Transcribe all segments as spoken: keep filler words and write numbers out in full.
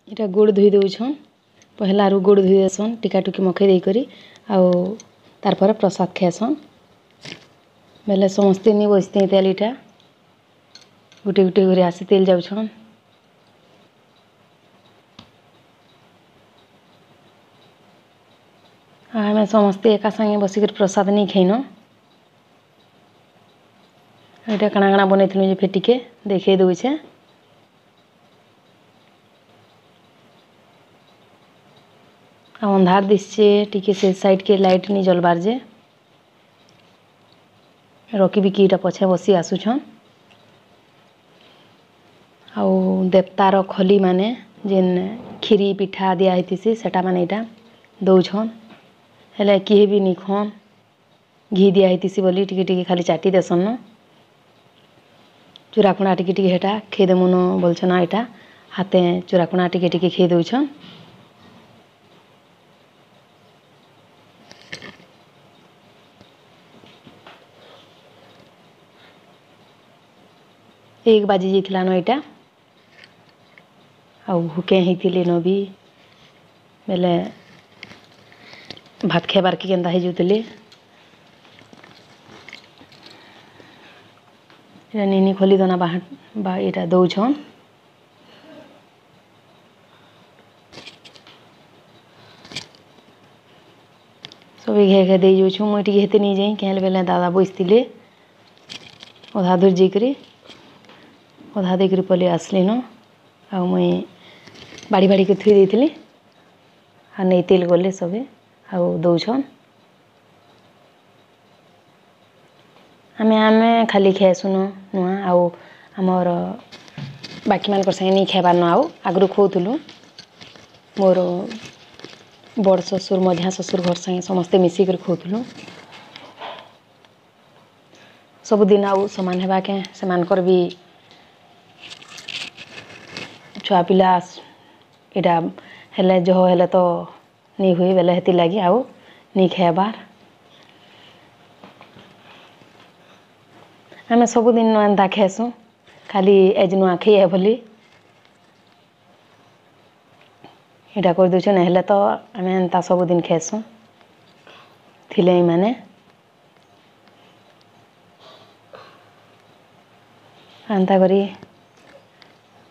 ଏଇଟା ଗୋଡ଼ ଧୋଇ ଦଉଛନ୍। ପହିଲାରୁ ଗୋଡ଼ ଧୋଇ ଦେସନ୍, ଟିକା ଟୁକି ମଖେଇ ଦେଇକରି, ଆଉ ତାର୍ ପରେ ପ୍ରସାଦ ଖାଏସନ୍। ବେଲେ ସମସ୍ତେ ନି ବସିତେ ତେଲ୍ ଇଟା ଗୁଟେ ଗୁଟେ କରି ଆସି ତେଲ୍ ଯାଉଛନ୍। ଆମେ ସମସ୍ତେ ଏକା ସାଙ୍ଗେ ବସିକରି ପ୍ରସାଦ ନେଇ ଖାଇନ। ଏଇଟା କାଣା କାଣା ବନେଇଥିଲୁ ଯେ ଫେର୍ ଟିକେ ଦେଖେଇ ଦଉଛେ। ଆଉ ଅନ୍ଧାର ଦିଶছে ଟିକେ, ସେ ସାଇଡ୍ କେ ଲାଇଟ୍ ନି ଜଲବାର ଯେ। ରକି ବିକି ଇଟା ପଛେ ବସି ଆସୁଛନ୍। ଆଉ ଦେବତାର ଖଲି ମାନେ ଯେନ୍ ଖିରି ପିଠା ଦିଆ ହେଇଥିସି, ସେଟା ମାନେ ଇଟା ଦଉଛନ୍। ହେଲେ କିଏ ବି ନି ଖନ୍, ଘି ଦିଆ ହେଇଥିସି ବୋଲି ଟିକେ ଟିକେ ଖାଲି ଚାଟି ଦେସନ୍ ନ। ଚୁରାକୁଣା ଟିକେ ଟିକେ ହେଟା ଖେଇଦେମୁନ ବୋଲଛନ୍। ଏଇଟା ହାତେ ଚୁରାକୁଣା ଟିକେ ଟିକେ ଖେଇ ଦଉଛନ୍। ଏକ ବାଜି ଯାଇଥିଲା ନ ଏଇଟା। ଆଉ ଭୁକେ ହେଇଥିଲେ ନ ବି, ବେଲେ ଭାତ ଖାଇବାର୍ କି କେନ୍ତା ହେଇଯାଉଥିଲେ। ଏଇଟା ନିନି ଖୋଲି ଦନା ବା ଏଇଟା ଦଉଛନ୍। ସବେ ଘେ ଘେ ଦେଇ ଯାଉଛୁ। ମୁଇଁ ଟିକେ ହେତେ ନେଇ ଯାଇ କେହେଲେ ବେଲେ ଦାଦା ବସିଥିଲେ, ଅଧା ଦୂର ଯାଇକରି ଅଧା ଦେଇକରି ପଲେଇ ଆସିଲିନ। ଆଉ ମୁଇଁ ବାଡ଼ି ବାଡ଼ିକି ଥୋଇ ଦେଇଥିଲି ଆଉ ନେଇତେଲ୍ ଗଲେ ସବେ ଆଉ ଦଉଛନ୍। ଆମେ ଆମେ ଖାଲି ଖାଏସୁନ ନୁଆଁ, ଆଉ ଆମର ବାକିମାନଙ୍କର ସାଙ୍ଗେ ନେଇ ଖାଇବାର୍ ନ। ଆଉ ଆଗରୁ ଖୋଉଥିଲୁ, ମୋର ବଡ଼ ଶ୍ୱଶୁର ମଝିଆ ଶ୍ୱଶୁର ଘର ସାଙ୍ଗେ ସମସ୍ତେ ମିଶିକରି ଖୋଉଥିଲୁ ସବୁଦିନ। ଆଉ ସମାନ ହେବା କେଁ? ସେମାନଙ୍କର ବି ଛୁଆ ପିଲା ଏଇଟା ହେଲେ ଜହ ହେଲେ ତ ନି ହୁଏ ବେଲେ, ହେଥିର୍ଲାଗି ଆଉ ନି ଖାଏବାର୍। ଆମେ ସବୁଦିନ ଏନ୍ତା ଖାଏସୁଁ, ଖାଲି ଏଜ୍ ନୂଆଖାଇ ଏ ବୋଲି ଏଇଟା କରିଦେଉଛୁ, ନାଇଁ ତ ଆମେ ଏନ୍ତା ସବୁଦିନ ଖାଏସୁଁ ଥିଲେ ଏମାନେ। ଏନ୍ତା କରି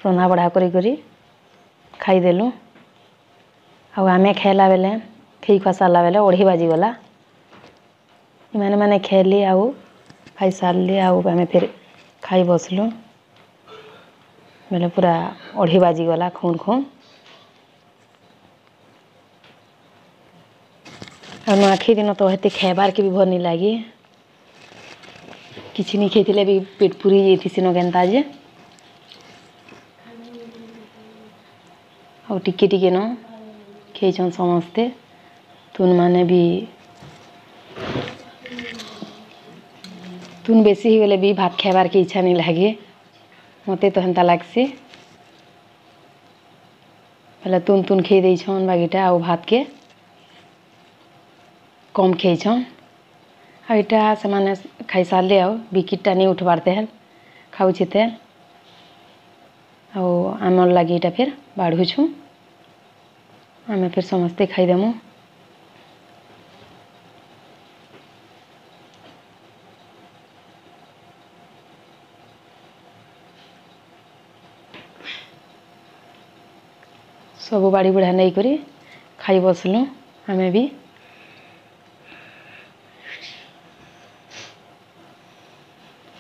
ରନ୍ଧା ବଢ଼ା କରି କରି ଖାଇଦେଲୁ। ଆଉ ଆମେ ଖାଇଲା ବେଲେ, ଖେଇ ଖୁଆ ସାରିଲା ବେଲେ ଅଢ଼େଇ ବାଜିଗଲା। ଏମାନେ ମାନେ ଖେଲି ଆଉ ଖାଇସାରିଲେ, ଆଉ ଆମେ ଫେର୍ ଖାଇ ବସିଲୁ ବେଲେ ପୁରା ଅଢ଼େଇ ବାଜିଗଲା ଖୁନ୍ ଖୁନ୍। ଆଉ ନୂଆଖାଇ ଦିନ ତ ହେତେ ଖାଇବାର୍କେ ବି ଭଲ୍ ନି ଲାଗେ। କିଛି ନି ଖାଇଥିଲେ ବି ପେଟ୍ ପୁରି ଯାଇଥିସି ନ କେନ୍ତା ଯେ। ଆଉ ଟିକେ ଟିକେ ନ ଖେଇଛନ୍ ସମସ୍ତେ। ତୁନ୍ ମାନେ ବି ତୁନ୍ ବେଶୀ ହେଇଗଲେ ବି ଭାତ ଖାଇବାର୍କେ ଇଚ୍ଛା ନି ଲାଗେ, ମତେ ତ ହେନ୍ତା ଲାଗ୍ସି। ହେଲେ ତୁନ୍ ତୁନ୍ ଖେଇ ଦେଇଛନ୍ ବାକିଟା, ଆଉ ଭାତକେ କମ୍ ଖେଇଛନ୍। ଆଉ ଇଟା ସେମାନେ ଖାଇସାରିଲେ, ଆଉ ବିକିଟ୍ଟା ନି ଉଠବାର୍ ତେଲ୍ ଖାଉଛେ ତେଲ୍। ଆଉ ଆମର୍ ଲାଗି ଇଟା ଫେର୍ ବାଢ଼ୁଛୁଁ, ଆମେ ଫେର୍ ସମସ୍ତେ ଖାଇଦେମୁ। ସବୁ ବାଡ଼ି ବୁଢ଼ା ନେଇକରି ଖାଇ ବସିଲୁ ଆମେ ବି।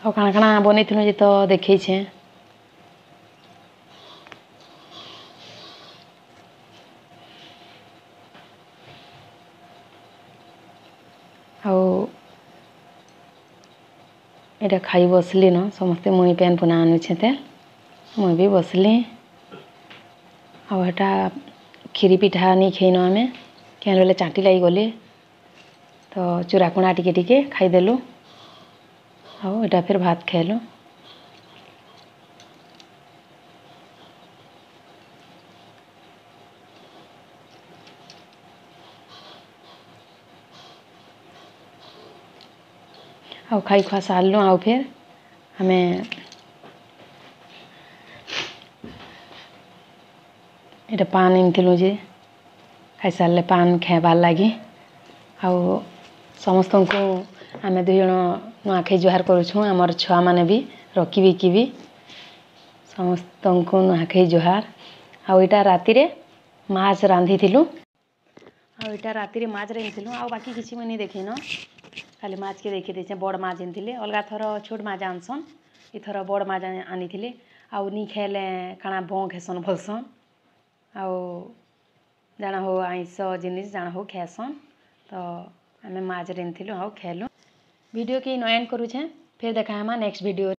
ଆଉ କାଣା କାଣା ବନେଇଥିଲୁ ଯେ ତ ଦେଖେଇଛେଁ। ଆଉ ଏଇଟା ଖାଇ ବସିଲି ନ ସମସ୍ତେ। ମୁଇଁ ପେନ୍ ପୁନା ଆନୁଛେଁ ତେଲ୍, ମୁଇଁ ବି ବସିଲି। ଆଉ ହେଟା ଖିରି ପିଠା ନି ଖେଇନ ଆମେ, କେନ୍ ବେଲେ ଚାଟି ଲାଗିଗଲେ ତ ଚୁରାକୁଣା ଟିକେ ଟିକେ ଖାଇଦେଲୁ। ଆଉ ଏଇଟା ଫେର୍ ଭାତ ଖାଇଲୁ। ଆଉ ଖାଇ ଖୁଆ ସାରିଲୁ, ଆଉ ଫେର୍ ଆମେ ଏଇଟା ପାନ୍ ଆଣିଥିଲୁ ଯେ ଖାଇସାରିଲେ ପାନ୍ ଖାଇବାର୍ ଲାଗି। ଆଉ ସମସ୍ତଙ୍କୁ ଆମେ ଦୁଇ ଜଣ ନୂଆଖାଇ ଜୁହାର କରୁଛୁଁ। ଆମର ଛୁଆମାନେ ବି, ରକି ବିକି ବି, ସମସ୍ତଙ୍କୁ ନୂଆଖାଇ ଜୁହାର। ଆଉ ଏଇଟା ରାତିରେ ମାଛ ରାନ୍ଧିଥିଲୁ। ଆଉ ଏଇଟା ରାତିରେ ମାଛ ରାନ୍ଧିଥିଲୁ। ଆଉ ବାକି କିଛି ମୁଇଁ ନି ଦେଖିନ, ଖାଲି ମାଛକେ ଦେଖି ଦେଇଛେ। ବଡ଼ ମାଛ ଆଣିଥିଲେ। ଅଲଗା ଥର ଛୋଟ ମାଛ ଆନସନ୍, ଏଥର ବଡ଼ ମାଛ ଆନିଥିଲେ। ଆଉ ନି ଖାଇଲେ କାଣା ବଙ୍କ୍ ହେସନ୍ ବୋଲସନ୍, ଆଉ ଜାଣା ହଉ ଆଇଁଷ ଜିନିଷ୍ ଜାଣା ହଉ ଖାଏସନ୍। ତ ଆମେ ମାଛ ରାନ୍ଧିଥିଲୁ ଆଉ ଖାଇଲୁ। ଭିଡ଼ିଓ କେ ଇନ ଏଣ୍ଡ କରୁଛେଁ। ଫେର୍ ଦେଖା ହେମା ନେକ୍ସଟ ଭିଡ଼ିଓ।